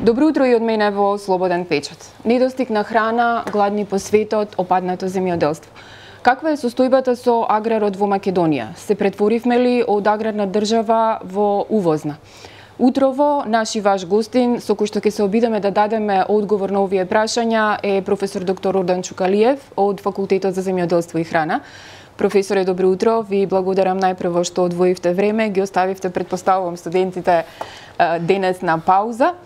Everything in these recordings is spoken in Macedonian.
Добро утро и од мене во Слободен печат. Недостиг на храна, гладни по светот, опаднато земјоделство. Каква е состојбата со аграрот во Македонија? Се претворивме ли од аграрна држава во увозна? Утрово, наш и ваш гостин, со кој што ќе се обидеме да дадеме одговор на овие прашања, е професор доктор Ордан Чукалиев од Факултетот за земјоделство и храна. Професоре, добро утро. Ви благодарам најпрво што одвоивте време, ги оставивте, предпоставувам, студентите денес на пауза.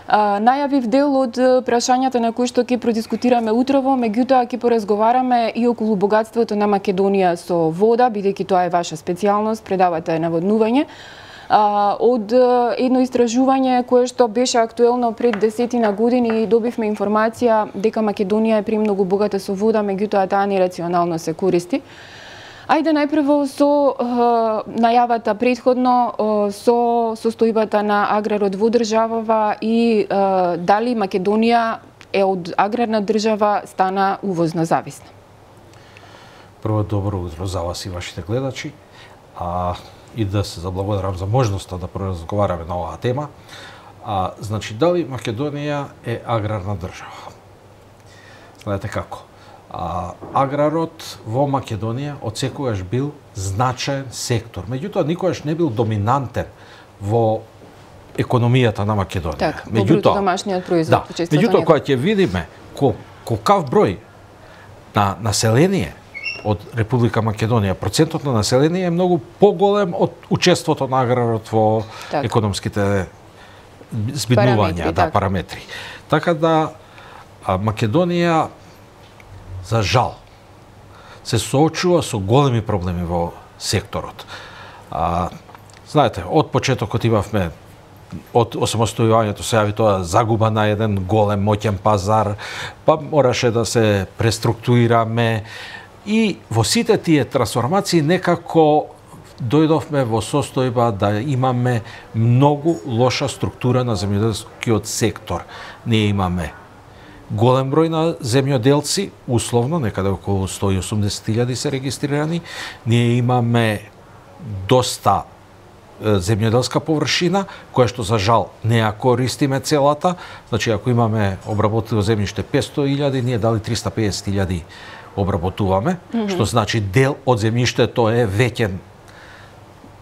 Најавив дел од прашањата на кои што ќе продискутираме утрово, меѓутоа ќе поразговараме и околу богатството на Македонија со вода, бидејќи тоа е ваша специјалност, предавате наводнување. Од едно истражување кое што беше актуелно пред 10 години и добивме информација дека Македонија е премногу богата со вода, меѓутоа таа нерационално се користи. Ајде најпрво со најавата претходно со состојбата на аграрот во државава и дали Македонија е од аграрна држава стана увозно зависна. Прво, добро утро за вас и вашите гледачи. И да се заблагодарам за можноста да поразговараме на оваа тема. Значи, дали Македонија е аграрна држава? Знаете како? Аграрот во Македонија одсекогаш бил значаен сектор. Меѓутоа, никогаш не бил доминантен во економијата на Македонија. Так, во бруто домашниот производ. Да, меѓутоа, кога ќе видиме колкав број на население од Република Македонија, процентот на население е многу поголем од учеството на аграрот во економските збиднувања, параметри. Така да Македонија, за жал, се соочува со големи проблеми во секторот. Знаете, од почетокот имавме, од осамостојувањето се јави тоа загуба на еден голем моќен пазар, па мораше да се преструктурираме и во сите тие трансформации некако дојдовме во состојба да имаме многу лоша структура на земјоделскиот сектор. Ние имаме голем број на земјоделци, условно, некаде околу 180.000 се регистрирани. Ние имаме доста земјоделска површина, која што за жал не ја користиме целата. Значи, ако имаме обработено земјиште 500.000, ние дали 350.000 обработуваме, што значи дел од земјиштето е веќе,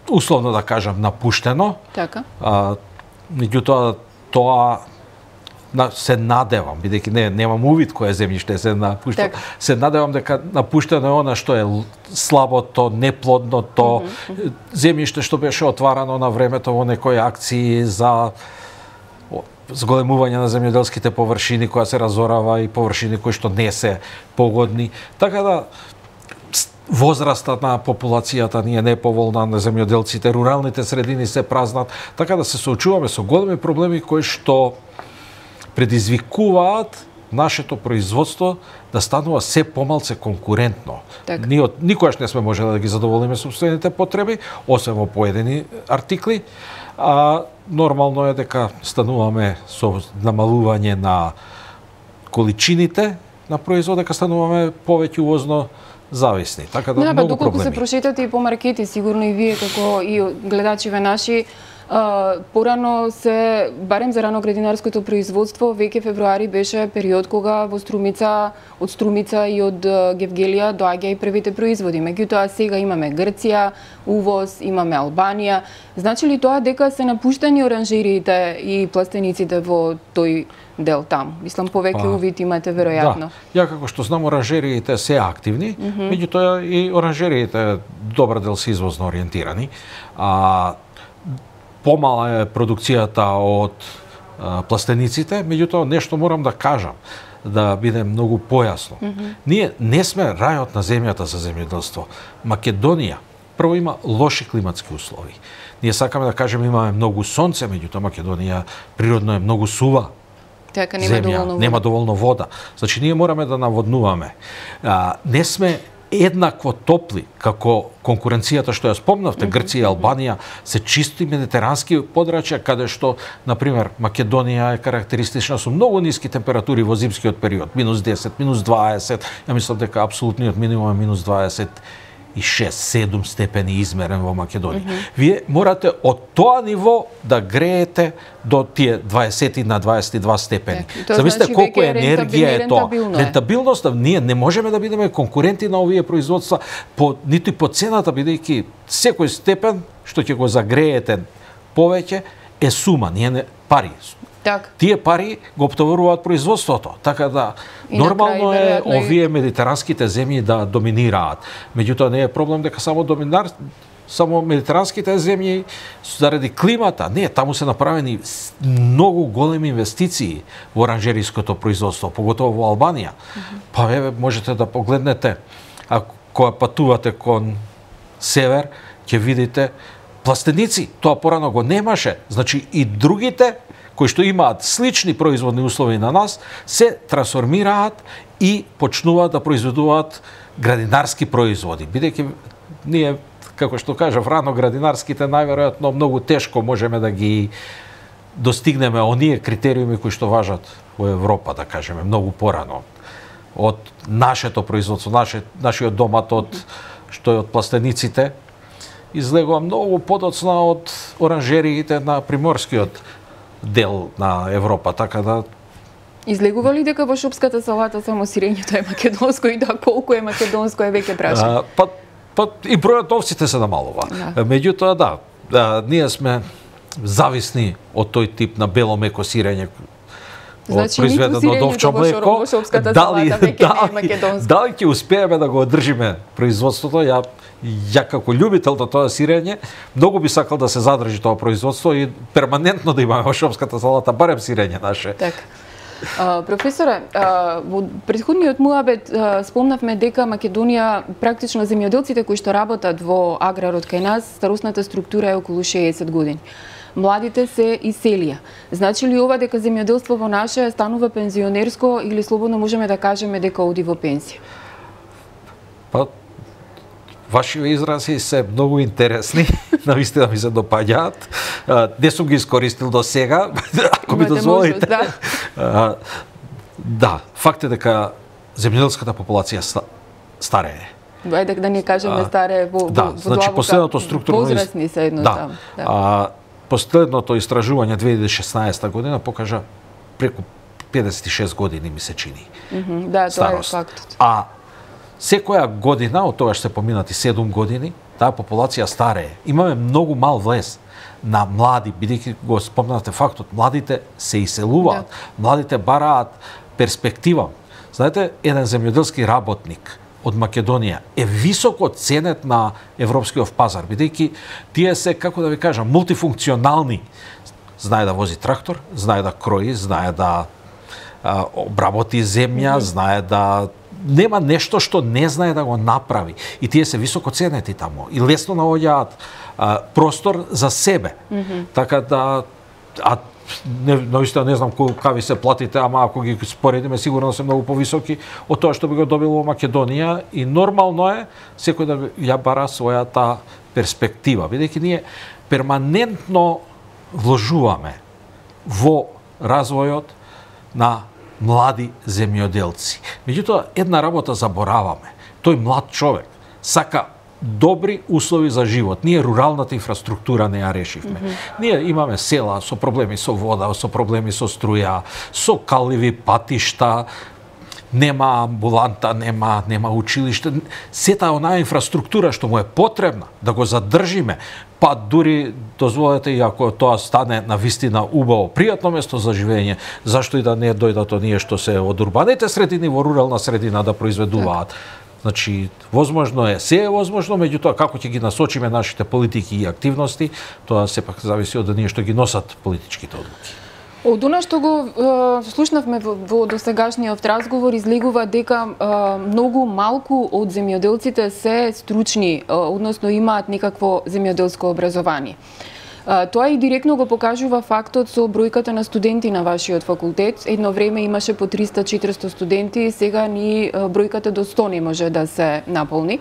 условно да кажам, напуштено. Така. Меѓутоа, тоа се надевам, бидејќи немам увид кое земјиште се напушта, се надевам дека напуштено е она што е слабото, неплодното, земјиште што беше отварано на времето во некои акции за зголемување на земјоделските површини, која се разорава, и површини кои што не се погодни. Така да возрастот на популацијата ни е неповолна, на земјоделците, руралните средини се празнат, така да се соочуваме со големи проблеми кои што предизвикуваат нашето производство да станува се помалце конкурентно. Ние никогаш не сме можеле да ги задоволиме сопствените потреби, освен во поедини артикли, нормално е дека стануваме со намалување на количините на производ, дека стануваме повеќе увозно зависни. Така да многу проблеми. Доколку се прошетате и по маркети, сигурно и вие како и гледачиве наши, порано се, барем за раноградинарското производство, веќе февруари беше период кога во Струмица, од Струмица и од Гевгелија доаѓа и првите производи. Меѓутоа сега имаме Грција, увоз, имаме Албанија. Значи ли тоа дека се напуштени оранжериите и пластениците во тој дел таму? Мислам, повеќе увид имате веројатно. Да, ја како што знам, оранжериите се активни, меѓутоа и оранжериите добар дел се извозно ориентирани. Помала е продукцијата од пластениците, меѓутоа нешто морам да кажам, да биде многу појасно. Ние не сме рајот на земјата за земјоделство. Македонија прво има лоши климатски услови. Ние сакаме да кажеме имаме многу сонце, меѓутоа Македонија природно е многу сува. Така, нема доволно вода. Значи ние мораме да наводнуваме. Не сме еднакво топли како конкуренцијата што ја спомнавте, Грција и Албанија се чисти медитерански подрачја, каде што, например, Македонија е карактеристична со многу ниски температури во зимскиот период, -10, -20, ја мислам дека апсолутниот минимум е -20 6-7 степени измерен во Македонија. Вие морате од тоа ниво да греете до тие 20 на 22 степени. Замислете колку енергија е тоа. Рентабилноста, ние не можеме да бидеме конкуренти на овие производства ниту по цената, бидејќи секој степен што ќе го загреете повеќе е сума, ние не пари. Так. Тие пари го оптоваруваат производството, така да нормално е овие медитеранските земји да доминираат. Меѓутоа не е проблем дека само медитеранските земји заради климата, не, таму се направени многу големи инвестиции во оранжериското производство, поготово во Албанија. Па еве можете да погледнете, ако патувате кон север, ќе видите пластеници, тоа порано го немаше. Значи и другите кои што имаат слични производни услови на нас, се трансформираат и почнуваат да произведуваат градинарски производи. Бидејќи ние, како што кажав рано, градинарските најверојатно многу тешко можеме да ги достигнеме оние критериуми кои што важат во Европа, да кажеме, многу порано. Од нашето производство, нашиот домат што е од пластениците, излегува многу подоцна од оранжериите на приморскиот дел на Европа, така да... Излегува ли дека во шопската салата само сирењето е македонско и да колку е македонско е веќе прашање? Па и бројот овците се намалува. Меѓутоа ние сме зависни од тој тип на бело меко сирење, произведено од овчо млеко. Дали ќе успееме да го одржиме производството? Ја како љубител до тоа сирење, многу би сакал да се задржи тоа производство и перманентно да имаме во шопската салата барем сирење наше. Така. Професоре, во претходниот муабет спомнавме дека Македонија, практично земјоделците кои што работат во аграрот кај нас, старосната структура е околу 60 години. Младите се иселија. Значи ли ова дека земјоделство во наше станува пензионерско или слободно можеме да кажеме дека оди во пензија? Па, вашите изрази се многу интересни, навистина ми се допаѓаат. Не сум ги искористил до сега, ако ми дозволите. Да, факт е дека земјоделската популација старее. Ајде да не кажеме старее во значи последното структурно возрастни се едноставно. Последното истражување 2016 година покажа преку 56 години ми се чини. Да, тоа е фактот. Секоја година, од тогаш се поминати 7 години, таа популација старее. Имаме многу мал влез на млади, бидејќи го спомнавте фактот, младите се иселуваат, младите бараат перспектива. Знаете, еден земјоделски работник од Македонија е високо ценет на европскиот пазар, бидејќи тие се, како да ви кажам, мултифункционални. Знае да вози трактор, знае да крои, знае да обработи земја, знае да... Нема нешто што не знае да го направи. И тие се високо ценети таму. И лесно наоѓаат простор за себе. Така да... Наистина не знам какви се платите, ама ако ги споредиме, сигурно се многу повисоки од тоа што би го добил во Македонија. И нормално е секој да ја бара својата перспектива. Бидејќи ние перманентно вложуваме во развојот на млади земјоделци. Меѓутоа, една работа забораваме. Тој млад човек сака добри услови за живот. Ние руралната инфраструктура не ја решивме. Ние имаме села со проблеми со вода, со проблеми со струја, со калливи патишта, нема амбуланта, нема училиште. Сета онаа инфраструктура што му е потребна да го задржиме, па дури дозволете и ако тоа стане на вистина убаво, пријатно место за живење, зашто и да не дојдат оние што се од урбаните средини во рурална средина да произведуваат. Значи, возможно е, се е возможно, меѓутоа како ќе ги насочиме нашите политики и активности, тоа сепак зависи од оние што ги носат политичките одлуки. Од она што го слушнавме во досегашниот разговор, излегува дека многу малку од земјоделците се стручни, односно имаат некакво земјоделско образование. Тоа и директно го покажува фактот со бројката на студенти на вашиот факултет. Едно време имаше по 300-400 студенти, сега ни бројката до 100 не може да се наполни.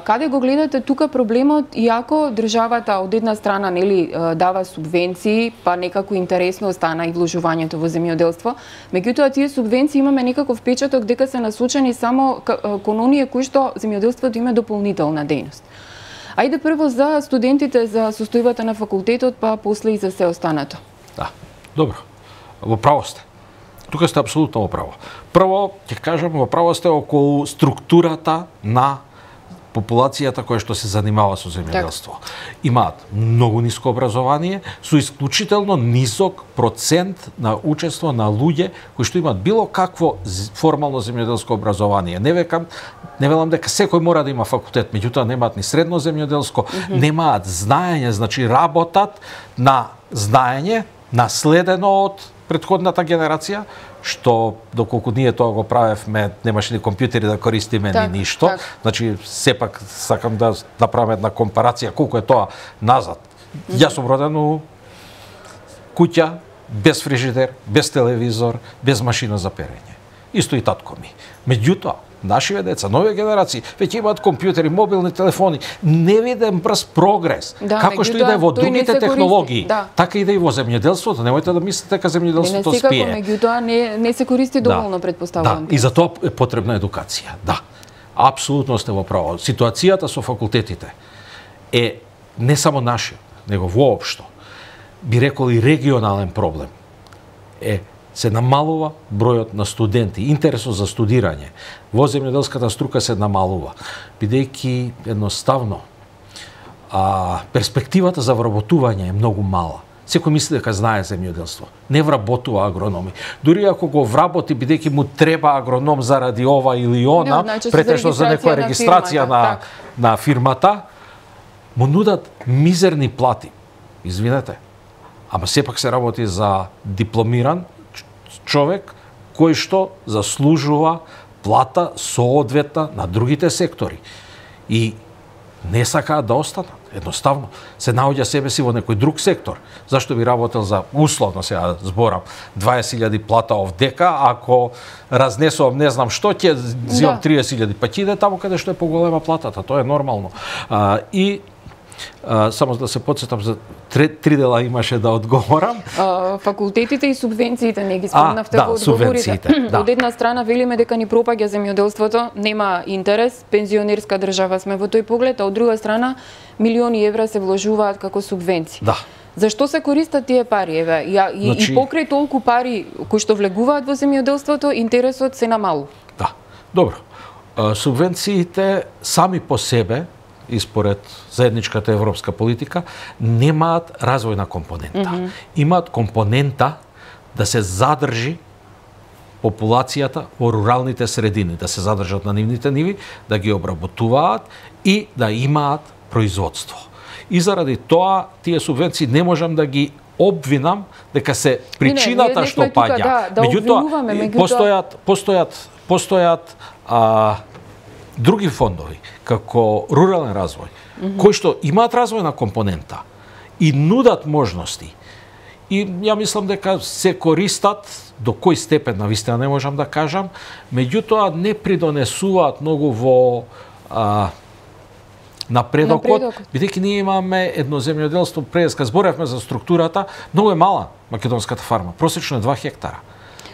Каде го гледате тука проблемот, иако државата од една страна нели дава субвенции, па некако интересно остана и вложувањето во земјоделство, меѓутоа тие субвенции имаме некаков впечаток дека се насочени само кон оние кои што земјоделството има дополнителна дејност. Ајде прво за студентите, за состојбата на факултетот, па после и за се останато. Да, добро. Во право сте. Тука сте апсолутно во право. Прво, ќе кажам, во право сте околу структурата на популацијата која што се занимава со земјоделство. Имаат многу ниско образование, со исклучително нисок процент на учество на луѓе кои што имаат било какво формално земјоделско образование. Не велам дека секој мора да има факултет, меѓутоа немаат ни средно земјоделско, немаат знаење, значи работат на знаење наследено од претходната генерација, што доколку ние тоа го правевме, немаше ни компјутери да користиме ни ништо. Значи, сепак сакам да направам една компарација колку е тоа назад. Јас сум роден у куќа, без фрижидер, без телевизор, без машина за перење. Исто и татко ми. Меѓутоа, нашиве деца, нови генерации, веќе имаат компјутери, мобилни телефони, не виден брз прогрес. Како што и да е во другите технологии, така и да и во земјоделството. Немојте да мислите дека земјоделството спие. Меѓутоа не се користи доволно, предпоставувам. Да, и за тоа е потребна едукација. Да. Апсолутно сте во право. Ситуацијата со факултетите е не само нашиот, него воопшто, би рекол и регионален проблем. Се намалува бројот на студенти, интересот за студирање во земјоделската струка се намалува, бидејќи едноставно перспективата за вработување е многу мала. Секој мисли дека знае земјоделство. Не вработува агрономи. Дури ако го вработи, бидејќи му треба агроном заради ова или она, претежно за некоја регистрација на фирмата, му нудат мизерни плати. Извинете, ама сепак се работи за дипломиран човек кој што заслужува плата соодветна на другите сектори. И не сакаат да останат. Едноставно се наоѓа себе си во некој друг сектор. Зашто би работел за, условно сега зборам, 20.000 плата овдека, ако разнесувам не знам што, ќе зимам 30.000, па ќе иде таму каде што е поголема платата, тоа е нормално. Само да се подсетам, за 3 дела имаше да одговорам. Факултетите и субвенциите не ги спомнавте во одговорите. Од една страна велиме дека ни пропаѓа земјоделството, нема интерес, пензионерска држава сме во тој поглед, а од друга страна милиони евра се вложуваат како субвенции. Да. Зашто се користат тие пари, еве? И покрај толку пари кои што влегуваат во земјоделството, интересот се намалува. Да. Добро. Субвенциите сами по себе и според заедничката европска политика, немаат развојна компонента. Имаат компонента да се задржи популацијата во руралните средини, да се задржат на нивните ниви, да ги обработуваат и да имаат производство. И заради тоа, тие субвенции не можам да ги обвинам дека се причината што паѓа. Меѓутоа, постојат други фондови, како рурален развој, кои што имаат развојна компонента и нудат можности. И ја мислам дека се користат, до кој степен навистина не можам да кажам, меѓутоа не придонесуваат многу во напредокот, бидејќи ние имаме едно земјоделство, преска зборевме за структурата, многу е мала македонската фарма, просечно е 2 хектара.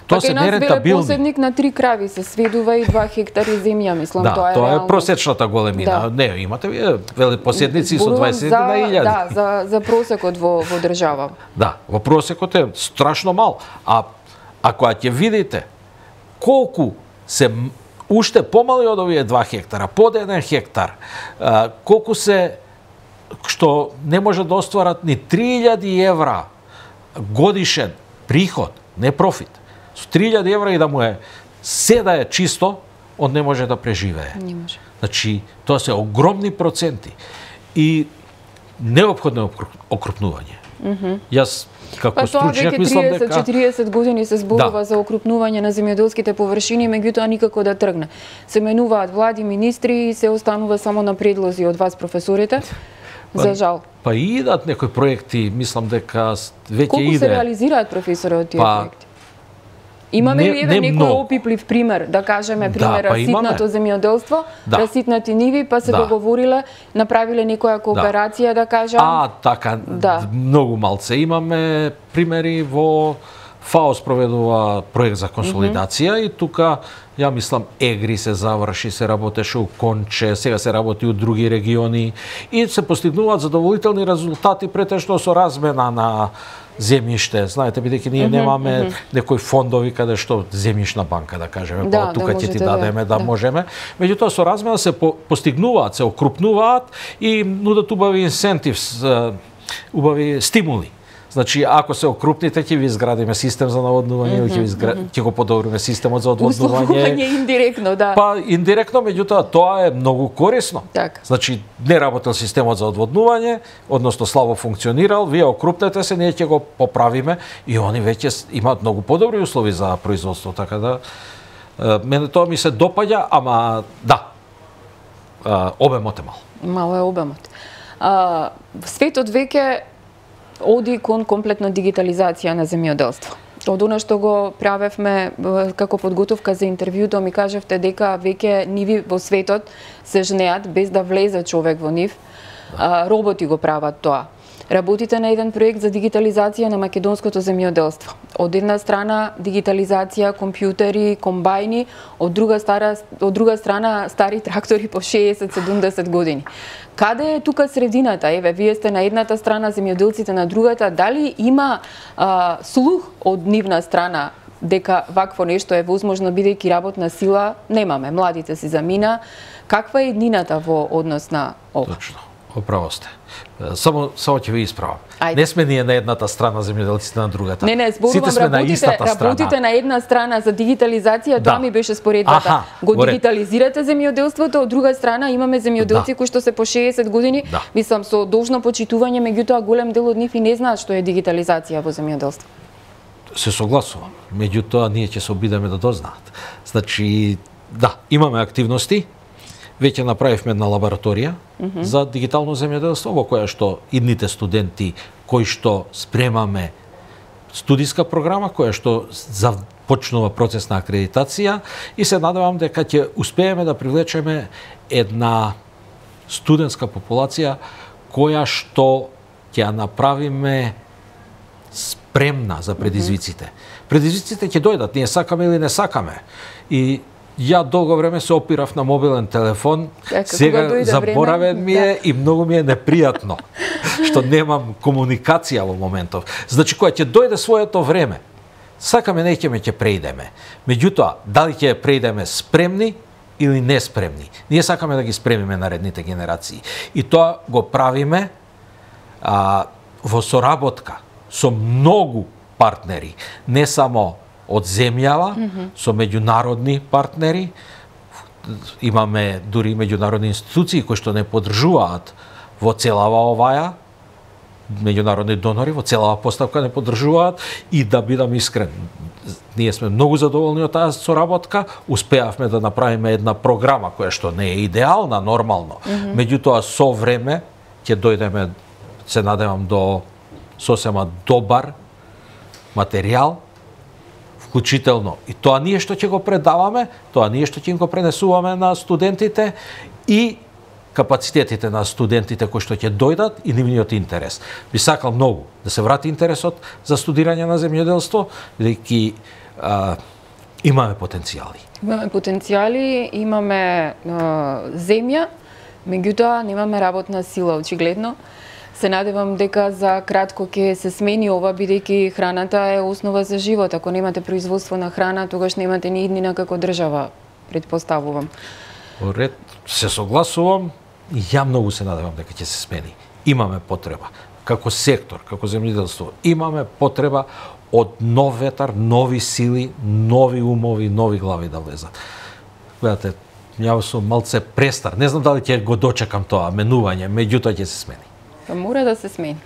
Тоа се нерентабилни. Посебник на 3 крави се сведува и 2 хектари земја, мислам, тоа е реално. Тоа е просечната големина. Не, имате вие поседници со 20.000. Да, за просекот во држава. Да, во просекот е страшно мал. А ако ќе видите колку се уште помали од овие 2 хектара, под 1 хектар, колку се што не може да остварат ни 3.000 евра годишен приход, не профит. Со 3.000 евра и да му е седа е чисто, он не може да преживее. Не може. Значи, тоа се огромни проценти и неопходно окрупнување. Јас како стручњак мислам дека 30-40 години се зборува за окрупнување на земјоделските површини, меѓутоа никако да тргне. Се менуваат влади, министри и се останува само на предлози од вас професорите. За жал. Па идат некои проекти, мислам дека веќе Колку се реализираат професори од тие проекти? Имаме ли некој опиплив пример, да кажеме пример раситнато земјоделство, раситнати ниви, па се договориле, направиле некоја кооперација, да кажам? Така, многу малце имаме примери во ФАО спроведува проект за консолидација и тука, ја мислам, Егри се заврши, се работеше у Конче, сега се работи у други региони и се постигнуваат задоволителни резултати претежно со размена на земјиште. Знаете, бидејќи ние немаме некои фондови каде што земјишна банка, да кажеме, тука ќе ти дадеме да можеме. Меѓутоа со размена се постигнуваат, се окрупнуваат и нудат убави инсентивс, убави стимули. Значи, ако се окрупните, ќе ви изградиме систем за наводнување, ќе го подобриме системот за одводнување. Условување индиректно, да. Па индиректно, меѓутоа тоа е многу корисно. Так. Значи, не работел системот за одводнување, односно слабо функционирал, вие окрупнете се, ние ќе го поправиме и они веќе имаат многу подобри услови за производство, така да мене тоа ми се допаѓа, ама обемот е мал. Мало е обемот. Светот веќе оди кон комплетна дигитализација на земјоделство. Од она што го правевме како подготовка за интервјуто, ми кажавте дека веќе ниви во светот се жнеат без да влезе човек во нив. Роботи го прават тоа. Работите на еден проект за дигитализација на македонското земјоделство. Од една страна дигитализација, компјутери, комбајни, од друга страна стари трактори по 60-70 години. Каде е тука средината? Еве, вие сте на едната страна, земјоделците на другата. Дали има слух од нивна страна дека вакво нешто е возможно, бидејќи работна сила немаме, младите си замина? Каква е еднината во однос на ова? Точно. Оправо сте. Само ќе ви исправам. Не сме ние на едната страна, земјоделците на другата. Не, зборувам, работите на една страна за дигитализација, тоа ми беше споредбата. Го дигитализирате земјоделството, од друга страна имаме земјоделци кои што се по 60 години, мислам со должно почитување, меѓутоа голем дел од нив и не знаат што е дигитализација во земјоделство. Се согласувам, меѓутоа ние ќе се обидеме да дознаат. Значи, имаме активности. Веќе направивме една лабораторија за дигитално земјоделство, во која што идните студенти кои што спремаме студиска програма, која што започнува процес на акредитација и се надевам дека ќе успееме да привлечеме една студентска популација која што ќе ја направиме спремна за предизвиците. Предизвиците ќе дојдат, ние сакаме или не сакаме. И ја долго време се опирав на мобилен телефон, сега заборавен ми е и многу ми е непријатно што немам комуникација во моментов. Значи, кога ќе дојде своето време, сакаме неќеме ќе преидеме. Меѓутоа, дали ќе преидеме спремни или неспремни? Ние сакаме да ги спремиме наредните генерации. И тоа го правиме во соработка со многу партнери, не само од земјава, со меѓународни партнери. Имаме дури меѓународни институции кои што не поддржуваат во целава оваја, меѓународни донори во целава поставка не поддржуваат и да бидам искрен, ние сме многу задоволни од таа соработка, успеавме да направиме една програма која што не е идеална нормално, меѓутоа со време ќе дојдеме, се надевам, до сосема добар материјал, вклучително и тоа ние што ќе го предаваме, тоа ние што ќе им го пренесуваме на студентите и капацитетите на студентите кои што ќе дојдат и нивниот интерес. Би сакал многу да се врати интересот за студирање на земјоделство, бидејќи имаме потенцијали. Имаме потенцијали, имаме земја, меѓутоа немаме работна сила очигледно. Се надевам дека за кратко ќе се смени ова, бидејќи храната е основа за живот. Ако немате производство на храна, тогаш немате ни иднина како држава, предпоставувам. Ред, се согласувам и ја многу се надевам дека ќе се смени. Имаме потреба, како сектор, како земјоделство, имаме потреба од нов ветар, нови сили, нови умови, нови глави да влезат. Гледате, ја сум малце престар, не знам дали ќе го дочекам тоа менување, меѓутоа ќе се смени. Мора да се смени.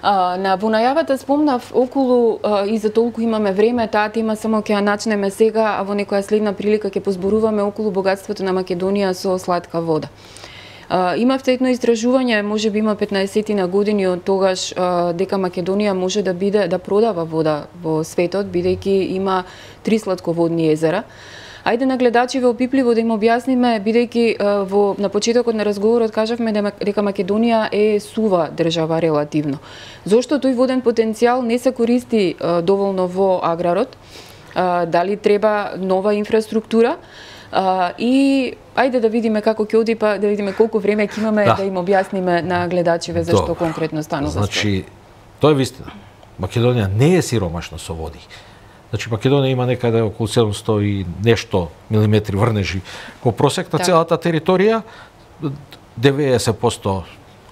Во најавата спомнав околу и за толку имаме време, таа тема само ќе ја начнеме сега, а во некоја следна прилика ќе позборуваме околу богатството на Македонија со слатка вода. Имавте едно истражување, можеби има 15 на години од тогаш, дека Македонија може да продава вода во светот, бидејќи има 3 слатководни езера. Ајде на гледачиве опипливо да им објасниме, бидејќи на почетокот на разговорот кажавме дека Македонија е сува држава релативно. Зошто тој воден потенцијал не се користи доволно во аграрот? Дали треба нова инфраструктура? И ајде да видиме како ќе оди, па да видиме колку време ќе имаме да им објасниме на гледачиве зашто конкретно станува. Значи, тоа е вистина. Македонија не е сиромашна со води. Значи, Македонија има некаде околу 700 и нешто милиметри врнежи во просек на целата територија. 90%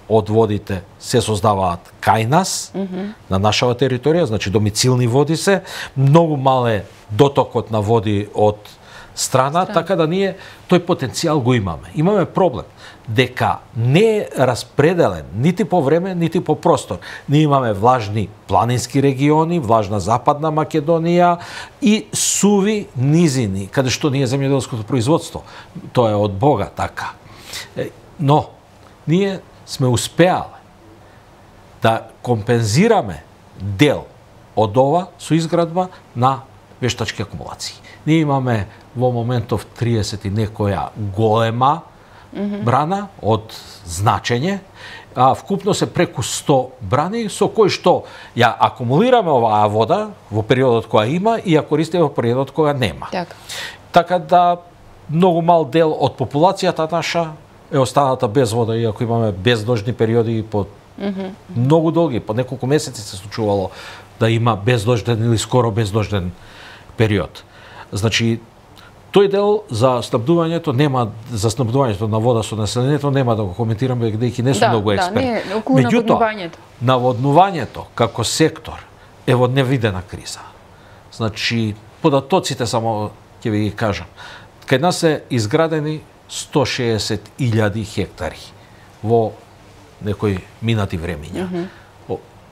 од водите се создаваат кај нас, на нашава територија, значи домицилни води се. Многу мале дотокот на води од страна, така да ние тој потенцијал го имаме. Имаме проблем дека не е распределен нити по време, нити по простор. Ние имаме влажни планински региони, влажна западна Македонија и суви низини, каде што ние земјоделското производство. Тоа е од Бога така. Но ние сме успеале да компензираме дел од ова со изградба на вештачки акумулации. Ние имаме во моментов 30 и некоја голема брана од значење, вкупно се преку 100 брани со кои што ја акумулираме оваа вода во периодот кога има и ја користиме во периодот кога нема. Така да многу мал дел од популацијата наша е останата без вода, иако имаме бездожни периоди по многу долги, по неколку месеци се случувало да има бездожден или скоро бездожден период. Значи, тој дел за снабдувањето на вода со населението нема да го коментирам, бидејќи не сум многу експерт. Меѓутоа, наводнувањето како сектор е во невидена криза. Значи, податоците само ќе ви ги кажам. Кај нас се изградени 160.000 хектари во некои минати времиња.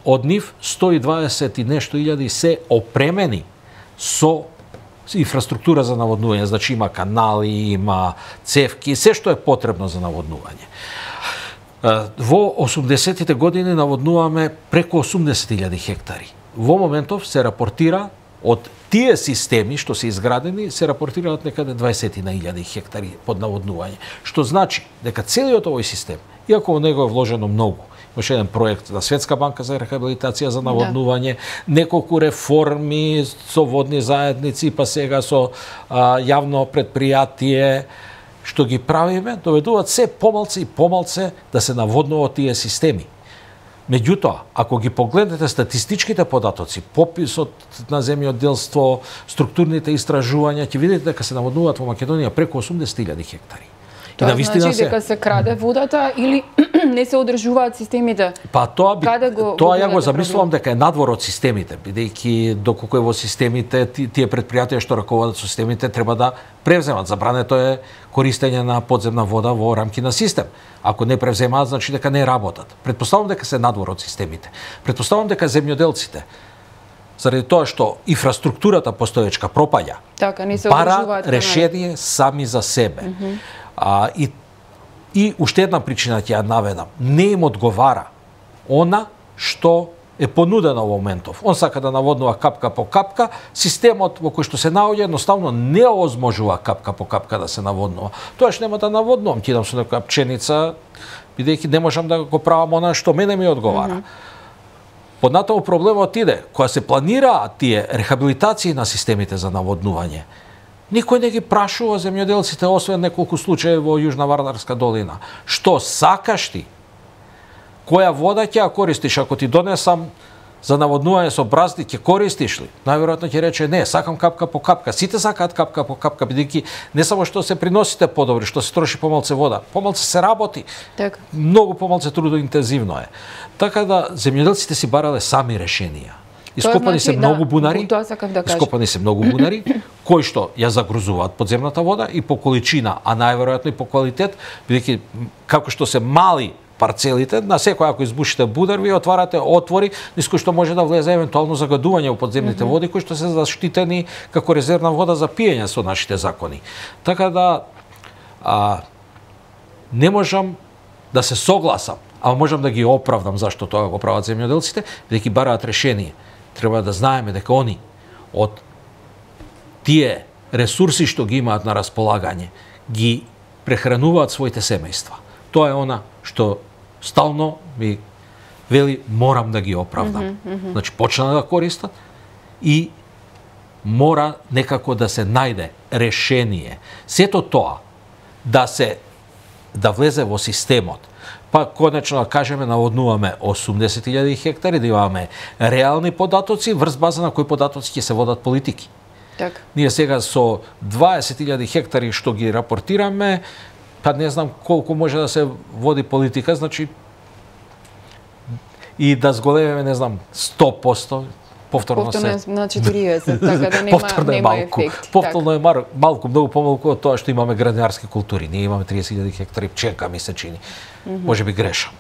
Од нив 120 и нешто илјади се опремени со инфраструктура за наводнување, значи има канали, има цевки, се што е потребно за наводнување. Во 80-тите години наводнуваме преку 80.000 хектари. Во моментов се рапортира од тие системи што се изградени, се рапортираат некаде 20.000 хектари под наводнување. Што значи дека целиот овој систем, иако во него е вложено многу, имаше еден проект на Светска банка за рехабилитација за наводнување, неколку реформи со водни заедници, па сега со јавно предпријатие, што ги правиме, доведуваат се помалце и помалце да се наводнуваат тие системи. Меѓутоа, ако ги погледнете статистичките податоци, пописот на земјоделство, структурните истражувања, ќе видите дека се наводнуваат во Македонија преку 80.000 хектари. Тоа значи дека се краде водата или не се одржуваат системите? Па тоа ја го замислувам дека е надвор од системите, бидејќи доколку е во системите, тие предпријатија што раководат со системите треба да превземат. Забрането е користење на подземна вода во рамки на систем. Ако не превземаат, значи дека не работат. Предпоставам дека се надвор од системите. Предпоставам дека земјоделците, заради тоа што инфраструктурата постоечка пропаѓа, бара решение сами за себе. И уште една причина ќе ја наведам. Не им одговара она што е понудено во моментов. Он сака да наводнува капка по капка, системот во кој што се наоѓа едноставно не овозможува капка по капка да се наводнува. Тоаш нема да наводнувам, ќе идам со некоја пченица, бидејќи не можам да го правам она што мене ми одговара. Поднатаму проблемот иде, кога се планираат тие рехабилитации на системите за наводнување, никој не ги прашува земјоделците, освен неколку случаи во Јужна Вардарска долина. Што сакаш ти? Која вода ќе ја користиш? Ако ти донесам за наводнување со бразди, ќе користиш ли? Најверојатно ќе рече не, сакам капка по капка. Сите сакаат капка по капка, бидејќи не само што се приносите подобри, што се троши помалце вода, помалце се работи. Так. Многу помалце трудоинтензивно е. Така да земјоделците си барале сами решенија. Ископани се многу бунари, кои што ја загрузуваат подземната вода и по количина, а најверојатно и по квалитет, бидејќи како што се мали парцелите, на секој ако избушите будар, ви отварате отвори низ кои што може да влезе евентуално загадување во подземните води, кои што се заштитени како резервна вода за пиење со нашите закони. Така да не можам да се согласам, ама можам да ги оправдам зашто тоа го прават земјоделците, бидејќи бараат решение. Треба да знаеме дека они од тие ресурси што ги имаат на располагање, ги прехрануваат своите семејства. Тоа е она што стално ми вели морам да ги оправдам. Значи почна да користат и мора некако да се најде решение. Сето тоа да влезе во системот. Па конечно да кажеме наводнуваме 80.000 хектари, да имаме реални податоци врз база на кои податоци ќе се водат политики. Така. Ние сега со 20.000 хектари што ги рапортираме, па не знам колку може да се води политика, значи и да зголемиме, не знам, 100%, повторно се на 40, така да нема ефект. Повторно е малку, многу помалку од тоа што имаме градинарски култури. Ние имаме 30.000 хектари пчелка, ми се чини. Може би грешам.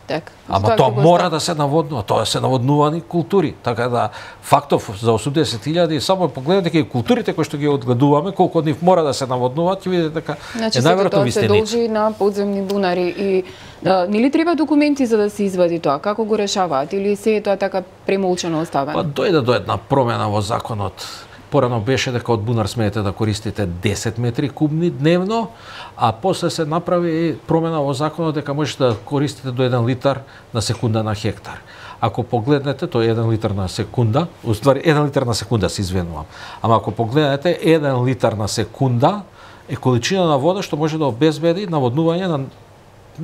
Так. Ама тоа мора да се наводнува, тоа се наводнувани култури. Така да фактов за 80.000 само погледнете ке културите кои што ги одгледуваме, колку од нив мора да се наводнуваат, ќе видите дека е најверојатно ви сте тоа се должи на подземни бунари и нели треба документи за да се извади тоа? Како го решаваат или се е тоа така премолчано оставено? Па дојде до една промена во законот. Порано беше дека од бунар смеете да користите 10 метри кубни дневно, а после се направи промена во законот дека можете да користите до 1 литар на секунда на хектар. Ако погледнете, тоа е 1 литар на секунда, уствари 1 литар на секунда се извинувам. Ама ако погледнете 1 литар на секунда е количина на вода што може да обезбеди наводнување на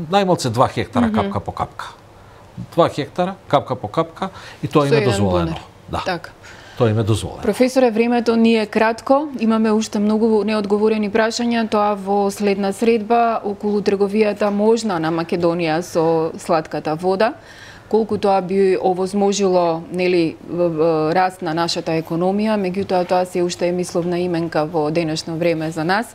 најмалце 2 хектара капка по капка. 2 хектара капка по капка и тоа им е дозволено. Да. Така. Тоа им е дозволено. Професоре, времето ни е кратко, имаме уште многу неодговорени прашања, тоа во следна средба околу трговијата можна на Македонија со слатката вода. Колку тоа би овозможило, нели, раст на нашата економија, меѓутоа тоа се уште е мисловна именка во денешно време за нас.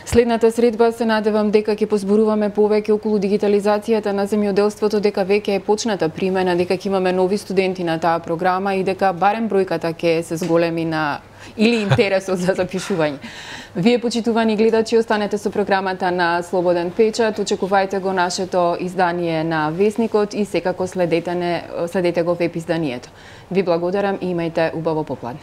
Следната средба се надевам дека ќе позборуваме повеќе околу дигитализацијата на земјоделството, дека веќе е почната примена, дека ќе имаме нови студенти на таа програма и дека барем бројката ќе се зголеми на или интересот за запишување. Вие, почитувани гледачи, останете со програмата на Слободен печат, очекувајте го нашето издание на Весникот и секако следете го веб изданието. Ви благодарам и имајте убаво попладне.